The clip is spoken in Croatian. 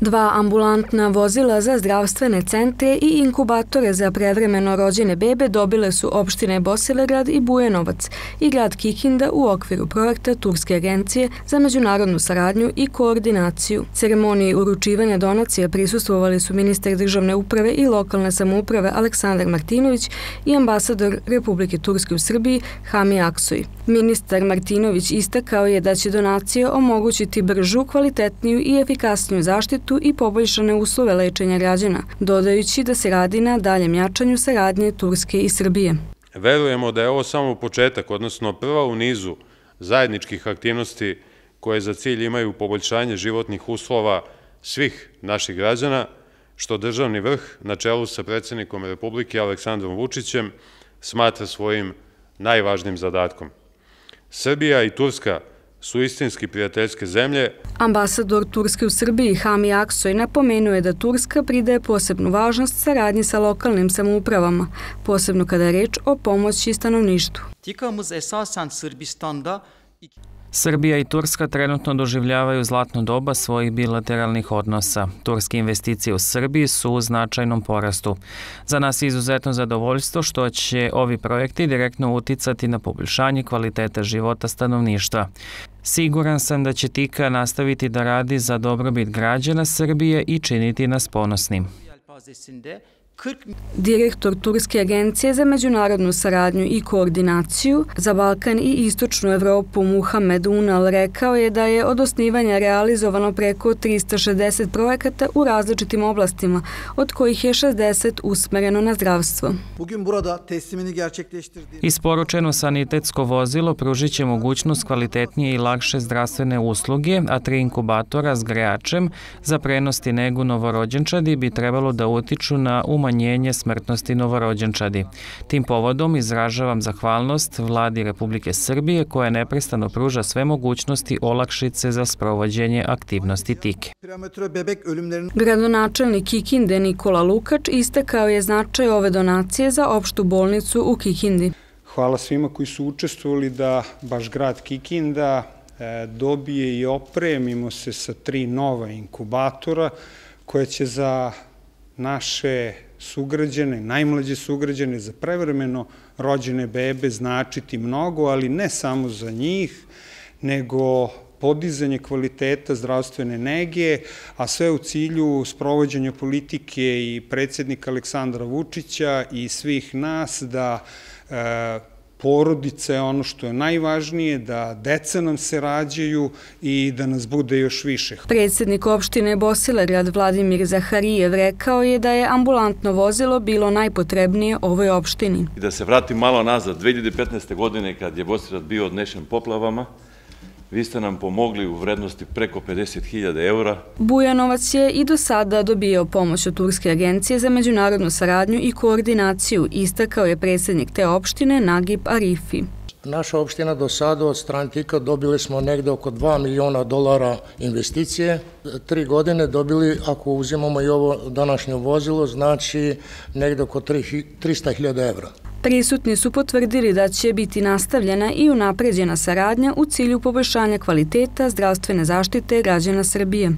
2 ambulantna vozila za zdravstvene centre i inkubatore za prevremeno rođene bebe dobile su opštine Bosilegrad i Bujanovac i grad Kikinda u okviru projekta Turske agencije za međunarodnu saradnju i koordinaciju. Ceremoniji uručivanja donacija prisustvovali su ministar državne uprave i lokalne samouprave Aleksandar Martinović i ambasador Republike Turske u Srbiji Hami Aksoy. Ministar Martinović istakao je da će donacije omogućiti bržu, kvalitetniju i efikasniju zaštitu i poboljšane uslove lečenja građana, dodajući da se radi na daljem jačanju saradnje Turske i Srbije. Verujemo da je ovo samo početak, odnosno prva u nizu zajedničkih aktivnosti koje za cilj imaju poboljšanje životnih uslova svih naših građana, što državni vrh na čelu sa predsjednikom Republike Aleksandrom Vučićem smatra svojim najvažnijim zadatkom. Srbija i Turska su istinski prijateljske zemlje. Ambasador Turske u Srbiji Hami Aksoy napomenuo je da Turska pridaje posebnu važnost saradnji sa lokalnim samoupravama, posebno kada je reč o pomoći stanovništvu. Srbija i Turska trenutno doživljavaju zlatno doba svojih bilateralnih odnosa. Turske investicije u Srbiji su u značajnom porastu. Za nas je izuzetno zadovoljstvo što će ovi projekti direktno uticati na poboljšanje kvaliteta života stanovništva. Siguran sam da će TIKA nastaviti da radi za dobrobit građana Srbije i činiti nas ponosnim. Direktor Turske agencije za međunarodnu saradnju i koordinaciju za Balkan i Istočnu Evropu Muhammed Unal rekao je da je od osnivanja realizovano preko 360 projekata u različitim oblastima, od kojih je 60 usmereno na zdravstvo. Isporučeno sanitetsko vozilo pružit će mogućnost kvalitetnije i lakše zdravstvene usluge, a 3 inkubatora s grejačem za prenos i negu novorođenčadi bi trebalo da utiču na umanjenje smrtnosti novorođenčadi. Tim povodom izražavam zahvalnost Vladi Republike Srbije koja neprestano pruža sve mogućnosti olakšice za sprovođenje aktivnosti TIKE. Gradonačelnik Kikinde Nikola Lukač istakao je značaj ove donacije za opštu bolnicu u Kikindi. Hvala svima koji su učestvovali da baš grad Kikinda dobije i opremimo se sa 3 nova inkubatora koje će za naše sugrađane, najmlađe sugrađane, za prevremeno rođene bebe značiti mnogo, ali ne samo za njih, nego podizanje kvaliteta zdravstvene nege, a sve u cilju sprovođenja politike i predsjednika Aleksandra Vučića i svih nas da porodice je ono što je najvažnije, da deca nam se rađaju i da nas bude još više. Predsjednik opštine Bosilegrad Vladimir Zaharijev rekao je da je ambulantno vozilo bilo najpotrebnije ovoj opštini. Da se vratim malo nazad, 2015. godine kad je Bosilegrad bio odnešen poplavama, vi ste nam pomogli u vrednosti preko 50.000 eura. Bujanovac je i do sada dobio pomoć od Turske agencije za međunarodnu saradnju i koordinaciju, istakao je predsjednik te opštine Nagib Arifi. Naša opština do sada od strane TIKA dobili smo negde oko $2 miliona investicije. 3 godine dobili, ako uzimamo i ovo današnje vozilo, znači negde oko 300.000 evra. Prisutni su potvrdili da će biti nastavljena i unapređena saradnja u cilju poboljšanja kvaliteta zdravstvene zaštite građana Srbije.